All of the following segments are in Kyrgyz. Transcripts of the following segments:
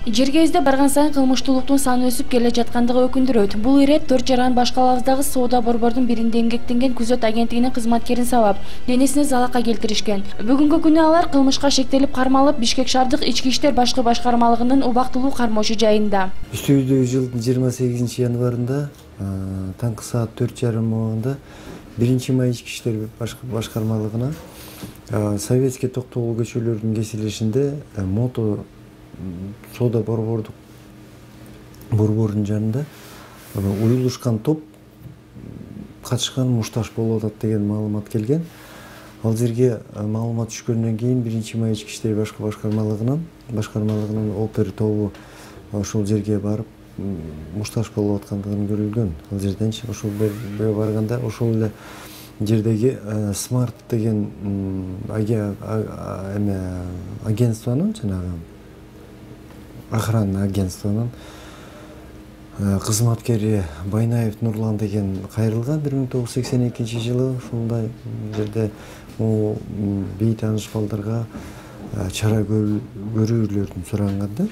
Жерге издеп барган сайын кылмыштуулуктун саны өсүп келе жаткандыгы өкүндүрөт. Бул ирет 4 жаран башкалабыздагы соода борбордун биринде эмгектенген күзөт агенттигинин кызматкерин сабап, денесине залакка келтиришкен. Бүгүнкү күнү алар кылмышка шектелип кармалып, Бишкек шаардык ички иштер башкы башкармалыгынын убактылуу кармоочу жайында. Үстүбүздөгү жылдын 28 январында таңкы саат 4:30 убагында 1 май ички иштер башкармалыгына Советский токтогул көчөлөрүнүн кесилешинде мото соода борборунун жанында уюлушкан топ качкан мушташ болуп атат деген маалымат келген. Ал жерге маалымат түшкөндөн кийин 1 май ички иштер башкармалыгынын опер тобу ошол жерге барып мушташ болуп аткандыгын көрүлгөн. Ал жерден ошол барганда ошол эле жердеги Смарт деген агентствонун жанагы охрана агентствонун кызматкери Байнаев Нурлан деген кайрылган 1982 жылы. Ушундай жерде бейтааныш балдарга чара көрүүлөрүн суранганда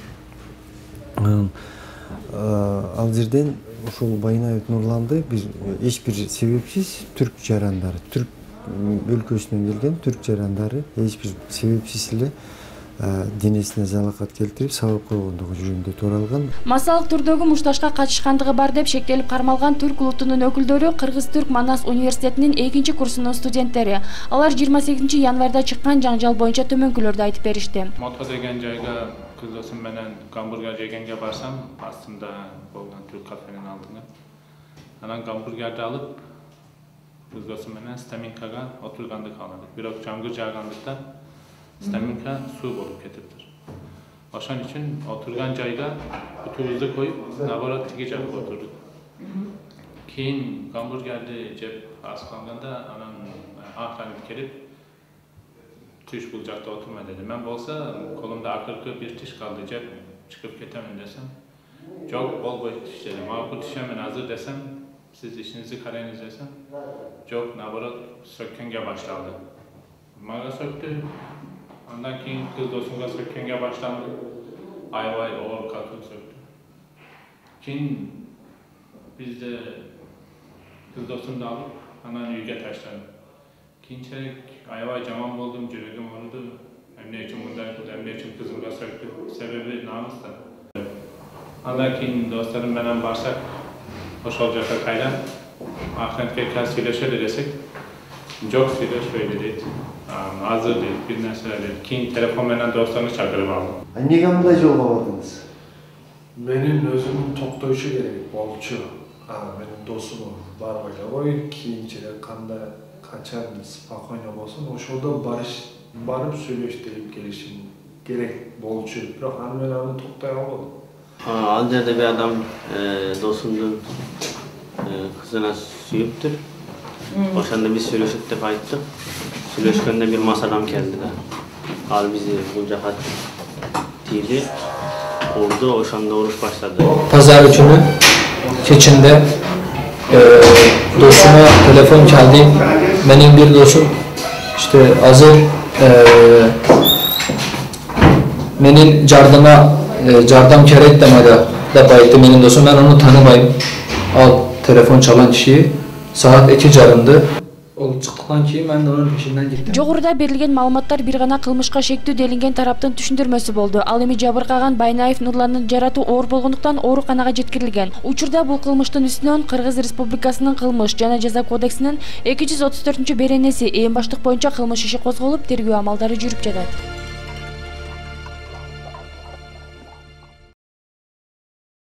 ал жерден ошол Байнаев Нурланды биз эч бир себепсиз түрк жарандары, түрк өлкөсүнөн келген түрк жарандары эч бир себепсиз эле денесине залакат келтирип сабап койгондугу жөнүндө тууралган. Массалык түрдөгү мушташка катышкандыгы бар деп шектелип кармалган түрк улутунун өкүлдөрү Кыргыз-Түрк Манас университетинин 2-курсунун студенттери. Алар 28 январда чыккан жаңжал боюнча төмөнкүлөрдү айтып беришти. Мото деген жайга кыз досум менен гамбургер жегенге барсам, астында болгон түрк кафенин алдына. Анан гамбургерди алып, кыз досум менен стаминкага отургандык кааладык. Бирок жамгыр жаагандыктан стаминка суу болуп кетиптир. Ошон үчүн отурган жайга бутубузду коюп, наоборот тиги жакка отурдук. Кийин гамбургерди жеп асканганда анан охранник келип түш бул жакта отурма деди. Мен болсо колумда акыркы бир тиш калды, жеп чыгып кетемин десем, жок болбойт тиш деди. Макул тишемин азыр десем, сиз ишиңизди караңыз десем, жок, наоборот сөккөнгө башталды. Мага сөктү. Андан кийин кыз досумга сөккөнгө башталды. Аябай оор катуу сөктү. Кийин бизде кыз досумду алып, анан үйгө таштадым. Кийинчерээк аябай жаман болдум, жүрөгүм ооруду. Эмне үчүн мындай кылды, эмне үчүн кызымга сөктү? Себеби намыс да. Андан кийин досторум менен барсак, ошол жака кайра охранникке сүйлөшөлү десек, жок сүйлөшпөйлү дейт. Азыр дейт, бир нерсе дейт. Кийин телефон менен досторумду чакырып алдым. Эмнеге мындай жолго бардыңыз? Менин өзүмдүн токтойчу керек болчу. Менин досум барып элебой, кийинчерээк качан спокойно болсун, ошолдо барып сүйлөштүрүп келишим керек болчу. Бирок аны менен аны токтой албадым. Ал жерде бир адам досумдун кызына сүйүптүр. Ошондо биз сүйлөшөт деп айттык. Сүйлөшкөндө бир мас адам келди да. Ал бизди бул жака тийди, урду, ошондо уруш баштады. Pazar günü keçinde dostuma telefon geldi. Benim bir dostum işte hazır benim jardam kerek demedi dep aytты benim dostum. Ben onu tanımayım. Al telefon çalan kişiyi saat 2:30'da. Ол чыктыктан кийин мен анын пешинен кеттим. Жогоруда берилген маалыматтар бир гана кылмышка шектүү делинген тараптын түшүндүрмөсү болду. Ал эми жабыркаган Байнаев Нурландын жаратуу оор болгондуктан ооруканага жеткирилген. Учурда бул кылмыштын үстүнөн Кыргыз Республикасынын кылмыш жана жаза кодексинин 234-беренеси ээн баштык боюнча кылмыш иши козголуп, тергөө амалдары жүрүп жатат.